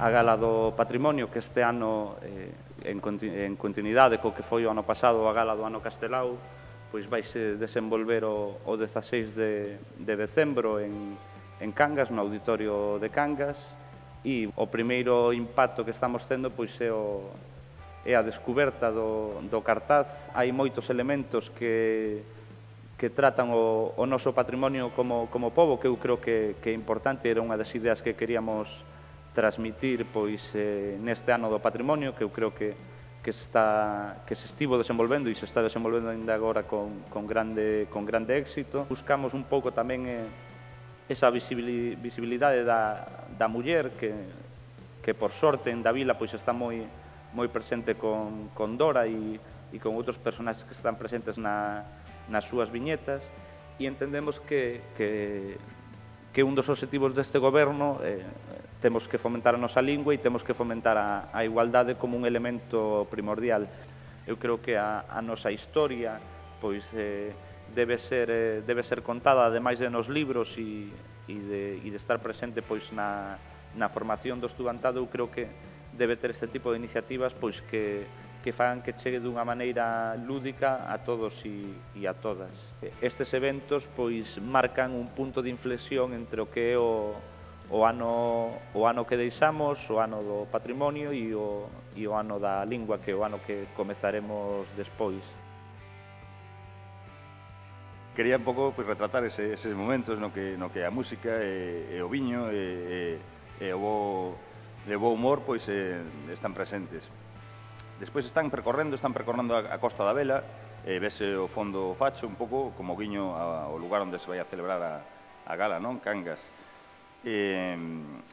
a Gala do Patrimonio, que este ano, en continuidade co que foi o ano pasado a Gala do Ano Castelao, pois vaise desenvolver o 16 de decembro en Cangas, no Auditorio de Cangas, e o primeiro impacto que estamos tendo pois é a descuberta do cartaz. Hai moitos elementos que tratan o noso patrimonio como pobo, que eu creo que é importante, era unha das ideas que queríamos transmitir pois neste ano do patrimonio, que eu creo que se estivo desenvolvendo e se está desenvolvendo ainda agora con grande éxito. Buscamos un pouco tamén esa visibilidade da muller que por sorte en Davila pois está moi presente con Dora e con outros personaxes que están presentes nas súas viñetas, e entendemos que un dos obxectivos deste goberno temos que fomentar a nosa lingua e temos que fomentar a igualdade como un elemento primordial. Eu creo que a nosa historia pois debe ser contada, ademais de nos libros e de estar presente pois na formación do estudantado. Eu creo que debe ter este tipo de iniciativas pois que fagan que chegue dunha maneira lúdica a todos e a todas. Estes eventos pois marcan un punto de inflexión entre o que é o ano que deixamos, o ano do patrimonio e o ano da lingua, que é o ano que comezaremos despois. Quería un pouco retratar eses momentos no que a música e o viño e o bo humor pois están presentes. Despois están percorrendo a Costa da Vela, vese o fondo facho un pouco como guiño ao lugar onde se vai a celebrar a gala, non? Cangas. E,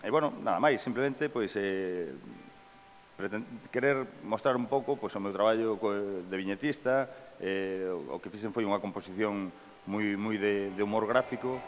bueno, nada máis, simplemente, pois, querer mostrar un pouco o meu traballo de viñetista. O que fixen foi unha composición moi de humor gráfico.